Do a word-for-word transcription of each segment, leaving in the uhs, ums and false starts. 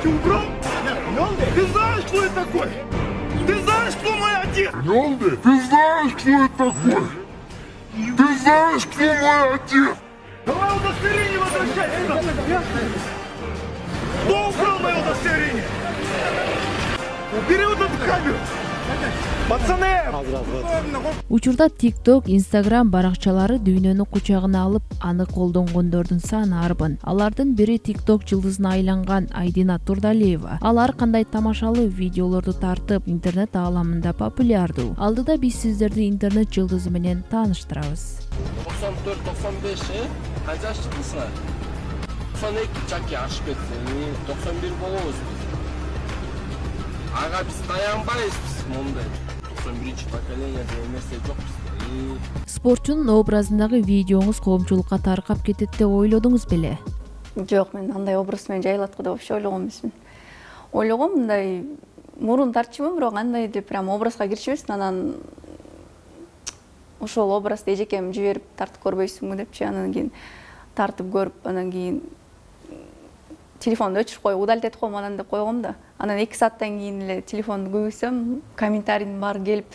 Ты украл? Ты знаешь, кто это такой? Ты знаешь, кто мой отец? Ты знаешь, кто это такой? Ты знаешь, кто мой отец? Давай удостоверение возвращай сюда! Кто украл мое удостоверение? Убери вот эту камеру! Пацаны! Учурда TikTok, Instagram баракчалары дүйнөнү кучагына алып, аны колдонгондордун саны арбын. Алардын бири TikTok жылдызына айланган Айдина Турдалиева. Ал ар кандай тамашалуу видеолорду тартып, интернет ааламында популярдуу. Алдыда биз сиздерди интернет жылдызы менен тааныштырабыз. токсон төрт токсон беш, э? Канча чыктыңсыңар? токсон эки чаки ашып кетти. токсон бир болобуз биз. Ага биз таянбайбыз мондай. токсон биринчи поколение деген нерсе жок бизде. Спортчунун образындагы видеоңуз коомчулукка таркап кетет деп ойлодуңуз беле? Жок, мен андай образ менен жайылат деп вообще ойлогон эмесмин. Ойлогом мындай мурун тартчумун, бирок андай деп прям образга киришпесин, анан ошол образды эжекем жиберип тартып көрбөйсүңбү депчи, анан кийин тартып көрүп, анан кийин телефонду өчүрүп коюп, удалить этип коем анан деп койгом да. Анан эки сааттан кийин эле телефонду көбөйсөм, комментарийдин баары келип,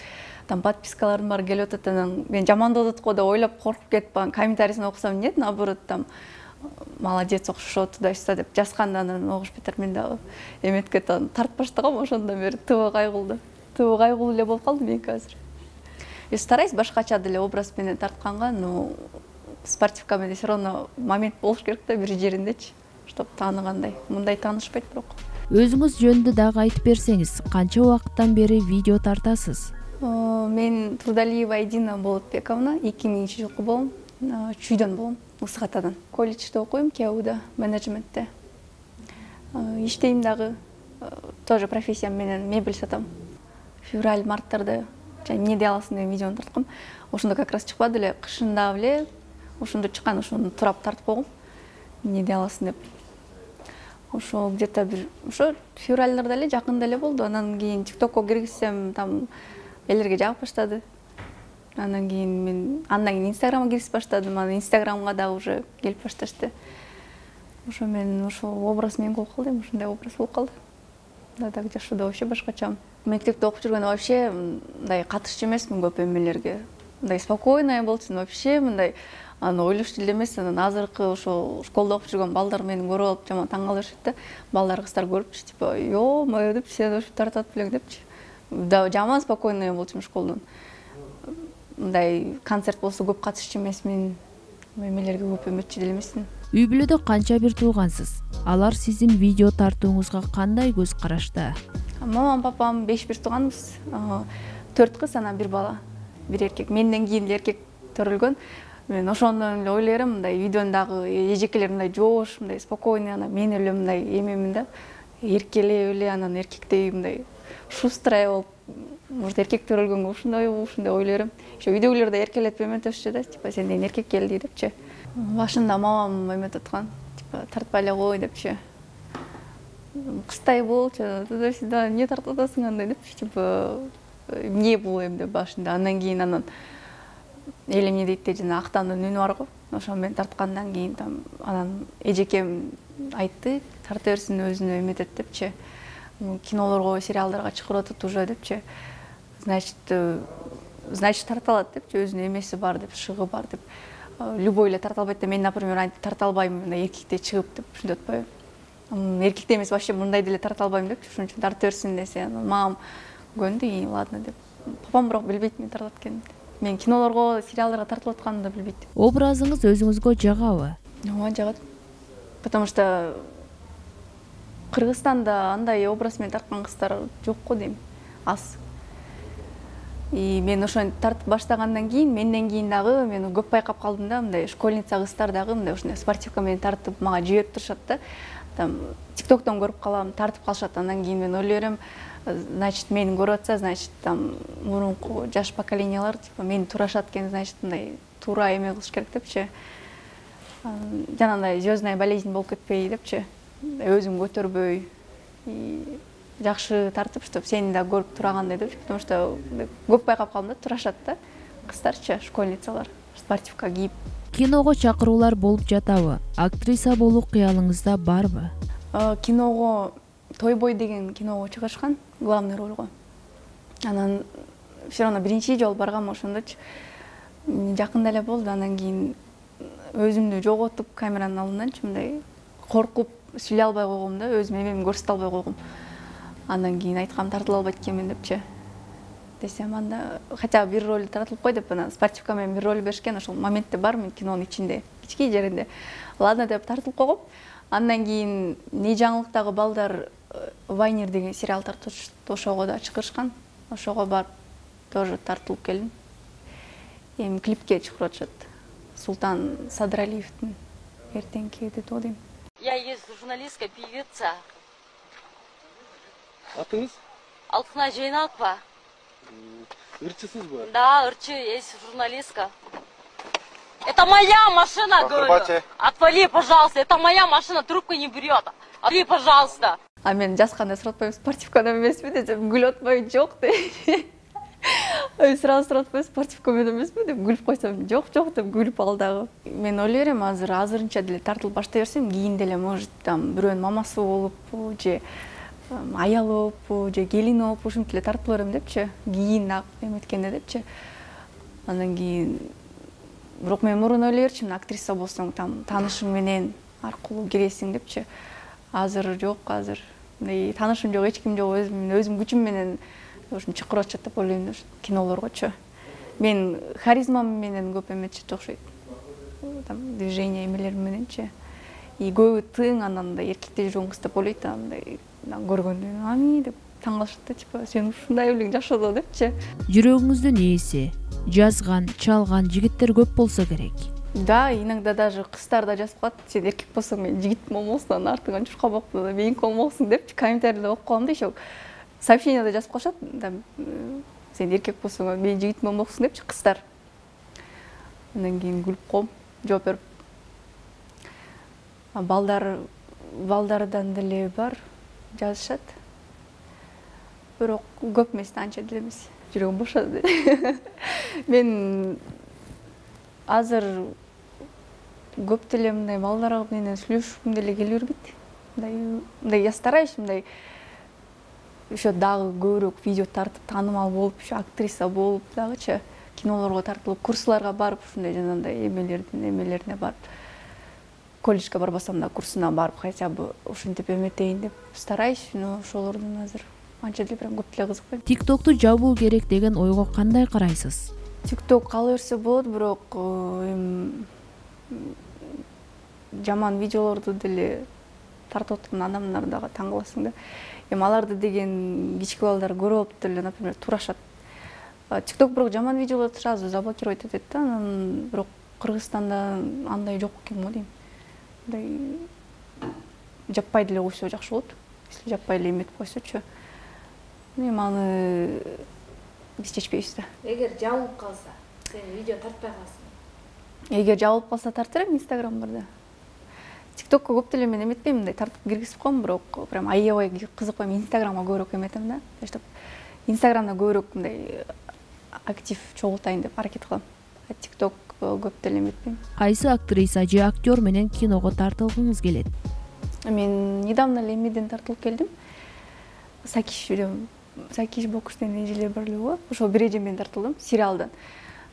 там подпискалардын баары келип атат, анан мен жамандап атат го деп ойлоп коркуп кетип, анан комментарийсин окусам нет, наоборот там молодец окшошот, туда-сюда деп жазганда анан огуш бетер мен дагы эметип кетип анан тартып баштагам, ошондон бери тыбы кайгылды. Тыбы кайгылуу эле болуп калды мен азыр. Үй стараюсь башкача деле образ менен тартканга, но спортивка менен все равно момент болуш керек да бир жериндечи, чтоб тааныгандай. Мындай таанышпайт бирок. Өзүңүз жөнүндө дагы айтып берсеңиз, канча убакыттан бери видео тартасыз? Мен Турдалиева Айдина Болотбековна, эки миңинчи жылкы болом, Чүйдөн болом, Ысык Атадан. Колледжде окуйм, КУда, менеджментте. Иштейм дагы, тоже профессиям менен мебель сатам. Февраль, марттарда эмне дей аласың деген видеону тарткам. Ошондо как раз чыкпады эле, кышында эле ошондо чыккан, ошону турап тартып койгом. Эмне дей аласың деп. Ошо где-то бир ошо февральдарда эле, жакында эле болду. Анан кийин TikTokко киргизсем, там элерге жагып баштады. Анан кийин мен андан кийин Instagramга киргизип баштадым. Анан Instagramга дагы уже келип башташты. Ошо мен ошо образ менен болуп калды, ошондой образ болуп калды. Да так жашоодо вообще башкачамын. Мектепте окуп жүргөндө вообще мындай катышчу эмесмин көп эмелерге. Мындай спокойная болчумун вообще, мындай аны ойлошту эле эмес. Анан азыркы ошо школдо окуп жүргөн балдар мени көрүп алып жаман таң калышат да. Балдар кыздар көрүпчү, типа, "Ё-моё" деп, "Сен ошо тартат белең" депчи. Да жаман спокойная болчумун школдон. Мындай концерт болсо көп катышчу эмесмин. Эмелерге көп эметчү деле эмесмин. Үй бүлөдө канча бир туугансыз? Алар сиздин видео тартууңузга кандай көз карашта? Мамам, папам беш бир тууганбыз. төрт кыз, анан бир бала, бир эркек. Менден кийин эле эркек төрөлгөн. Мен ошондон эле ойлойм, мындай видеондагы эжекелер мындай жоош, мындай спокойный, анан мен эле мындай эмемин да, эркелеп эле, анан эркектей мындай шустрая болуп, может эркек төрөлгөнгө ушундай ушундай ойлойм. Ошо үйдөгүлөр да эркелетип эметишчү да, типа сенден эркек келди депчи. Башында мамам эметип аткан, типа тартпай эле кой депчи. Кыстай болчу, туда-сюда, эмне тартып атасың андай депчи, типа эмне бул эми деп башында. Андан кийин анан эл эмне дейт деп жана актандын үнү бар го. Ошо мен тарткандан кийин там анан эжекем айтты, тарта берсин өзүнө эметет депчи. Кинолорго, сериалдарга чыгып атат уже депчи. Значит, значит тарта алат депчи, өзүнүн эмеси бар деп, шыгы бар деп. Любой эле тарта албайт да, мен, например, антип тарта албайм, мындай эркекте чыгып деп ушинтип атпайбы. Эркекте эмес, вообще мындай деле тарта албайм депчи, ошон үчүн тарта берсин десе, мамам көндү, и ладно деп. Папам бирок билбейт мен тартат экенин. Мен кинолорго, сериалдарга тартылып атканымды да билбейт. Образыңыз өзүңүзгө жагабы? Ооба, жагат. Потому что Кыргызстанда андай образ менен тарткан кыздар жок го дейм, аз. И мен ошону тартып баштагандан кийин, менден кийин дагы мен көп байкап калдым да, мындай школьница кыздар дагы мындай ушундай спортивка менен тартып мага жиберип турушат да. Там TikToктон көрүп калам, тартып калышат. Андан кийин мен ойлойм, значит, мени көрүп атса, значит, там мурунку жаш поколениялар типа мени турашат экен, значит, мындай туура эме кылыш керек депчи. Жанагындай звездная болезнь болуп кетпей депчи. Өзүм көтөрбөй, жакшы тартып, чтоб сени да көрүп турагандай депчи. Потому что көп байкап калдым да, турашат да кыздарчы, школьницалар, спортивка кийип. Киного чакыруулар болуп жатабы? Актриса болуу кыялыңызда барбы? Киного Той бой деген киного чыгышкан, главный рольго. Анан все равно биринчи жолу баргам ошондочу. Жакында эле болду, анан кийин өзүмдү жоготуп камеранын алдынданчы мындай коркуп сүйлөй албай койгом да, өзүм эмемди көрсөтө албай койгом. Андан кийин айткам тартыла албайт экенмин депчи. Десем анда хотя бы бир роль тартылып кой деп анан спортивка менен бир роль беришкен, ошол моментте бар мен кинонун ичинде, кички жеринде. Ладно деп тартылып койгом. Андан кийин не жаңылыктагы балдар Вайнер деген сериал тартышты, ошого да чыгышкан. Ошого барып тоже тартылып келдим. Эми клипке чыгарып атышат. Султан Садыралиевдин эртеңки деп ойлойм. Я есть журналистка, певица. Атыңыз? Алтынай Жайнакова. Ырчысыз ба? Да, ырчы, есть журналистка. Это моя машина, говорю. Отвали, пожалуйста. Это моя машина, трубку не берет. Отвали, пожалуйста. А мен жазганда сурап коем, спортивкада эмеспи десем, күлүп атпайбы, жок деп. Ой, сразу сурап коем, спортивка менен эмеспи деп күлүп койсом, жок, жок деп күлүп ал дагы. Мен ойлой берем, азыр азырынча деле тартылып баштай берсем, кийин деле может там бирөөнүн мамасы болуп же аялы болуп же келини болуп ушинтип эле тартып берем депчи. Кийин эметкенде депчи. Андан кийин бирок мен мурун ойлой берчимин, актриса болсоң там таанышың менен аркылуу киресиң депчи. Азыр жок, азыр мындай таанышым жок, эч ким жок, өзүм өзүм күчүм менен ушун чакырып атышат деп ойлойм кинолоргочу. Мен харизмам менен көп эметчит окшойт. Там движение эмелер мененчи. И көбү тың анан да эркекте жүргөн кыз деп ойлойт, андай көргөндө ами деп таң калышат да, типа сен ушундай элең жашоодо депчи. Жүрөгүңүздүн ээси, жазган, чалган жигиттер көп болсо керек. Да, иногда даже кыздар да жазып калат, сен эркек болсоң мен жигит болмосун, артыңан чуркап да меники болмоксуң депчи, комментарийде окуп калам да, еще сообщениеде жазып калышат, сен эркек болсоң мен жигит болмоксуң депчи кыздар. Андан кийин күлүп коем, жооп берип. Балдар балдардан деле бар жазышат. Бирок көп эмес, анча деле эмес. Жүрөгүм бошады. Мен азыр көп деле мындай балдар менен сүйлөшкүм деле келе бербейт. Мындай мындай я стараюсь мындай еще дагы көбүрөөк видео тартып, таанымал болуп, еще актриса болуп дагычы кинолорго тартылып, курсларга барып, ушундай жанагындай эмелердин эмелерине барып, колледжге барбасам да курсуна барып, хотя бы ушинтип эметейин деп стараюсь, но ошолордун азыр анча деле прям көп деле кызыкпайм. TikTok'ту жабуу керек деген ойго кандай карайсыз? TikTok кала берсе болот, бирок эми жаман видеолорду деле тартып аткан адамдар дагы таң каласың да. Эми аларды деген кички балдар көрүп алып деле, например, турашат. TikTok бирок жаман видеолорду сразу заблокировать этет да, анан бирок Кыргызстанда андай жок экен го дейм. Мындай жаппай деле койсо жакшы болот. Если жаппай эле эметип койсочу. Эми аны биз чечпейбиз да. Эгер жабылып калса, сен видео тартпай каласың. Эгер жабылып калса тартыр эми Instagram барда. TikTokко көп деле мен эметпейм, мындай тартып киргизип коем, бирок прям аябай кызыкпайм, Instagramга көбүрөөк эметем да. Таштап Instagramда көбүрөөк мындай актив чогултайын деп аракет кылам. TikTok көп деле эметпейм. Кайсы актриса же актер менен киного тартылгыңыз келет? Мен недавно эле эмеден тартылып келдим. Сакиш жүрөм. Сакиш бокстен эжелер барлыгы. Ошол бир эже менен тартылдым сериалдан.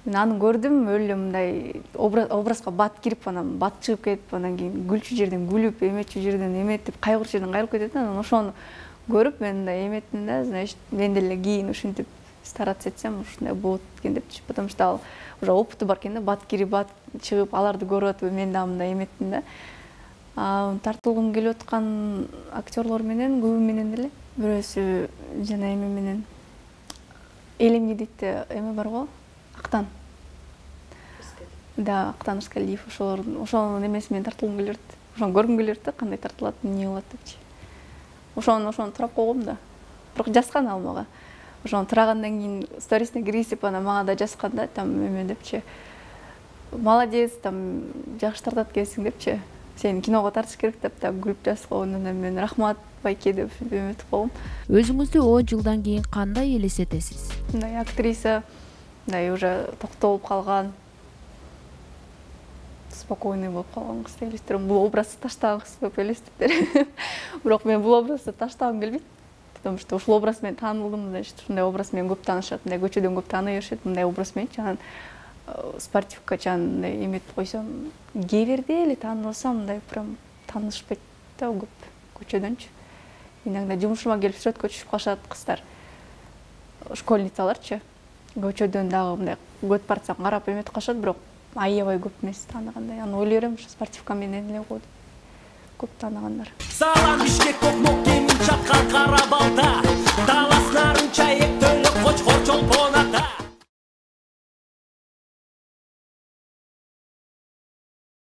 Мен аны көрдүм, өлө мындай образга бат кирип, анан бат чыгып кетип, анан кийин күлчү жерден күлүп, эметчү жерден эметип, кайгырчу жерден кайгырып кетет. Анан ошону көрүп мен да эметтим да, значит, мен деле кийин ушинтип стараться этсем, ушундай болот экен депчи, потому что ал уже опыты бар экен да, бат кирип, бат чыгып, аларды көрүп атып, мен да мындай эметтим да. Тартылгым келип аткан актерлор менен, көбү менен деле, бирөөсү жана эме менен Элемни дейт эме бар го, Актан. Да, Актан Ускалиев, ошолордун, ошонун эмеси менен тартылгым келет. Ошону көргүм келет да, кандай тартылат, эмне кылат депчи. Ошону ошону турап койгом да. Бирок жазган ал мага. Ошону турагандан кийин сторисине киргизип, анан мага да жазган да, там эме депчи. Молодец, там жакшы тартат экенсиң депчи. Сен киного тартыш керек деп да күлүп жазып койгондон мен рахмат байке деп эметип койгом. Өзүңүздү он жылдан кийин кандай элестетесиз? Мындай актриса, мындай уже токтолуп калган, спокойный болуп калган кыз деп элестетирем. Бул образды таштаган кыз деп элестетиптер. Бирок мен бул образды таштагым келбейт. Потому что ушул образ менен таанылдым, значит, ушундай образ менен көп таанышат, мындай көчөдөн көп тааный беришет, мындай образ мененчи. Анан спортивка чан мындай эметип койсом, кээ бирде эле таанылсам, мындай прям таанышпайт да көп көчөдөнчү. Иногда жумушума келип сүрөткө түшүп калышат кыздар. Школьницаларчы. Көчөдөн дагы мындай көт барсаң карап эметип калышат, бирок аябай көп эмес тааныгандай. Аны ойлой берем, ушу спортивка менен эле го деп көп тааныгандар.